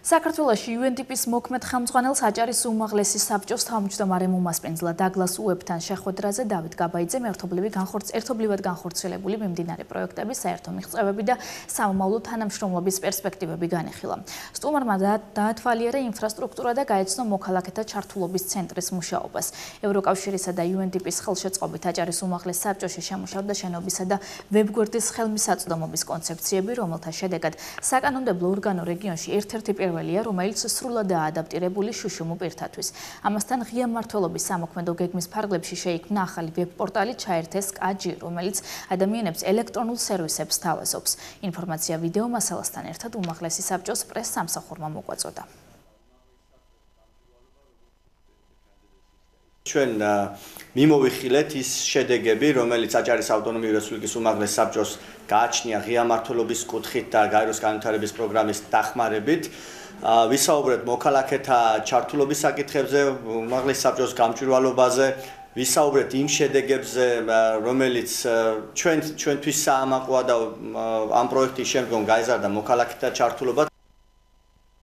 საქართველოში UNDP-ის მოქმედ ხელმძღვანელს აჭარის უმაღლესი საბჭოს თავმჯდომარე მომასპინძლა დაგლას უებთან შეხვედრაზე დავით გაბაიძე ერთობლივად განხორციელებული მიმდინარე პროექტების საერთო მიღწევები და სამომავლო თანამშრომლობის პერსპექტივები განიხილა. სტუმარმა დაათვალიერა ინფრასტრუქტურა და გაეცნო მოქალაქეთა ჩართულობის ცენტრის მუშაობას. ევროკავშირისა და UNDP-ის ხელშეწყობით აჭარის უმაღლეს საბჭოში შემუშავდა შენობისა და ვებგვერდის ხელმისაწვდომობის კონცეფციები, რომელთა შედეგად საკანონმდებლო ორგანო რეგიონში ერთ-ერთი რომელიც სრულადაა ადაპტირებული შუშუმ პირთათვის. ამასთან ღია მმართველობის სამოქმედო გეგმის ფარგლებში შეიქმნა ახალი ვებ-პორტალი ჩაერთეს კაჯი, რომელიც ადამიანებს ელექტრონულ სერვისებს თავაზობს. ინფორმაცია ვიდეო მასალასთან ერთად უმაღლესი საბჭოს პრეს-სამსახურმა მოგვაწოდა. ჩვენ მიმოვიხილეთ ის შედეგები, რომელიც აჭარის ავტონომიური რესპუბლიკის უმაღლეს საბჭოს გააჩნია ღია მმართველობის კუთხით და გაეროს განვითარების პროგრამის დახმარებით. ვისაუბრეთ მოქალაქეთა ჩართულობის საკითხებზე, უმაღლეს საბჭოს გამჭვირვალობაზე, ვისაუბრეთ იმ შედეგებზე, რომელიც ჩვენთვის საამაყოა და ამ პროექტის შემდგომ გაიზარდა მოქალაქეთა ჩართულობა.